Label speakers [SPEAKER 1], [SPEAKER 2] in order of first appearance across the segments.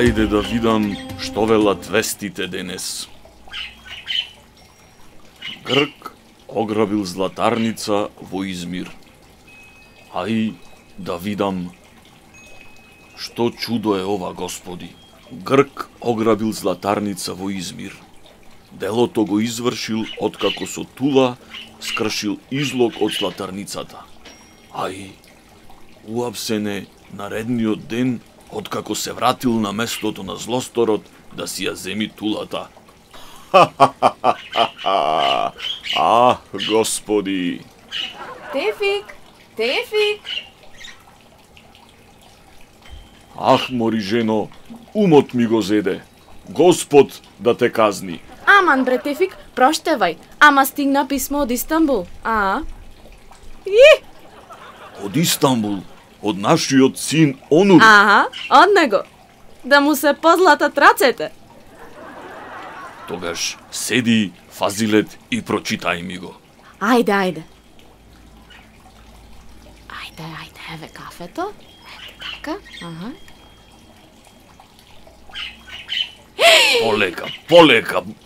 [SPEAKER 1] Ајде да видам што велат вестите денес. Грк ограбил златарница во Измир. Ај да видам што чудо е ова, господи. Грк ограбил златарница во Измир. Делото го извршил откако со тула скршил излог од златарницата. Ај, уапсене наредниот ден откако се вратил на местото на злосторот да си ја земи тулата. Господи!
[SPEAKER 2] Тефик! Тефик!
[SPEAKER 1] Мори жено, умот ми го зеде. Господ да те казни.
[SPEAKER 2] Аман, бре, Тефик, проштевај. Ама стигна писмо од Истанбул, И!
[SPEAKER 1] Од Истанбул? Од нашиот син Онур?
[SPEAKER 2] Од него. Да му се позлатат рацете.
[SPEAKER 1] Тогаш седи, Фазилет, и прочитај ми го.
[SPEAKER 2] Ајде. Еве кафето. Ете така,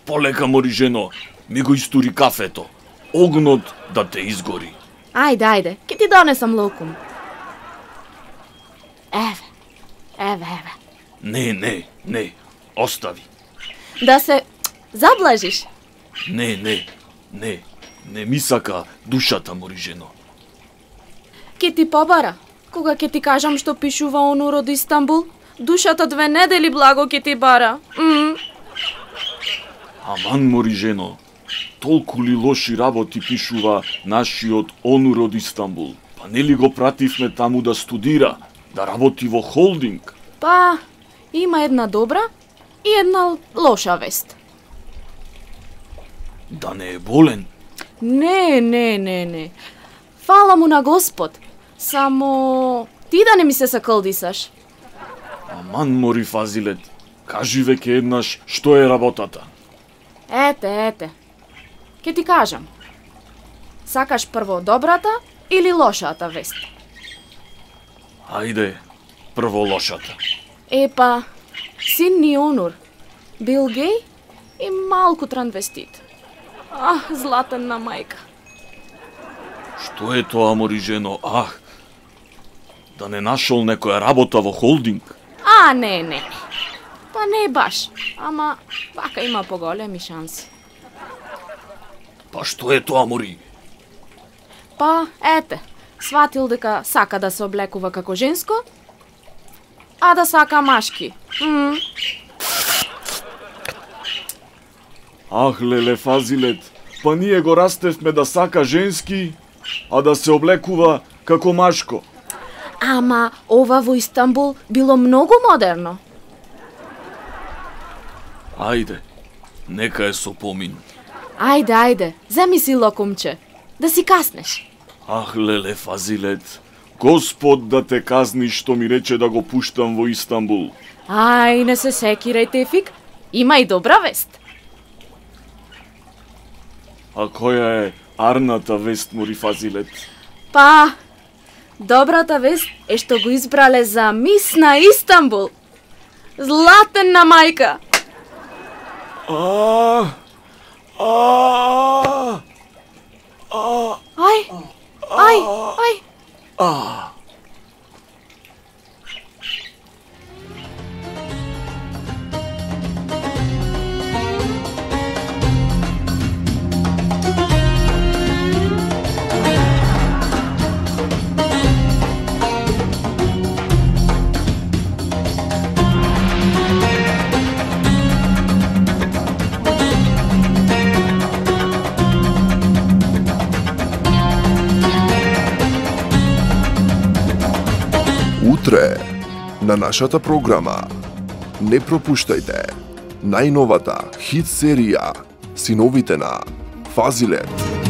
[SPEAKER 1] Полека, мори жено. Ми го истури кафето. Огнот да те изгори.
[SPEAKER 2] Ајде, ке ти донесам локум. Еве.
[SPEAKER 1] Не, остави.
[SPEAKER 2] Да се заблажиш.
[SPEAKER 1] Не ми сака душата, мори жено.
[SPEAKER 2] Ке ти побара, кога ке ти кажам што пишува Онур од Истанбул, душата 2 недели благо ке ти бара.
[SPEAKER 1] Аман, мори жено, толку ли лоши работи пишува нашиот Онур од Истанбул? Па нели го пративме таму да студира, да работи во холдинг?
[SPEAKER 2] Па, има една добра и една лоша вест.
[SPEAKER 1] Да не е болен?
[SPEAKER 2] Не. Фала му на Господ. Само ти да не ми се саколдисаш.
[SPEAKER 1] Аман, мори Фазилет, кажи веќе еднаш што е работата.
[SPEAKER 2] Ете. Ке ти кажам. Сакаш прво добрата или лошата вест?
[SPEAKER 1] Ајде, прво лошата.
[SPEAKER 2] Епа, син ни Онур бил геј и малку трансвестит. Златна мајка.
[SPEAKER 1] Што е тоа, мори жено? Да не нашол некоја работа во холдинг?
[SPEAKER 2] Не. Па не баш, ама вака има поголеми шанси.
[SPEAKER 1] Па што е тоа, мори?
[SPEAKER 2] Па, ете, сватил дека сака да се облекува како женско, а да сака машки.
[SPEAKER 1] Леле, Фазилет, па ние го растевме да сака женски, а да се облекува како машко.
[SPEAKER 2] Ама ова во Истанбул било многу модерно.
[SPEAKER 1] Ајде, нека е со помин.
[SPEAKER 2] Ајде, земи си локумче, да си каснеш.
[SPEAKER 1] Леле, Фазилет, Господ да те казни што ми рече да го пуштам во Истанбул.
[SPEAKER 2] Не се секирај, Тефик, има и добра вест.
[SPEAKER 1] А која е арната вест, мори Фазилет?
[SPEAKER 2] Па, добрата вест е што го избрале за мис на Истанбул. Златна мајка. Ај.
[SPEAKER 3] Утре на нашата програма не пропуштајте најновата хит серија Синовите на Фазилет.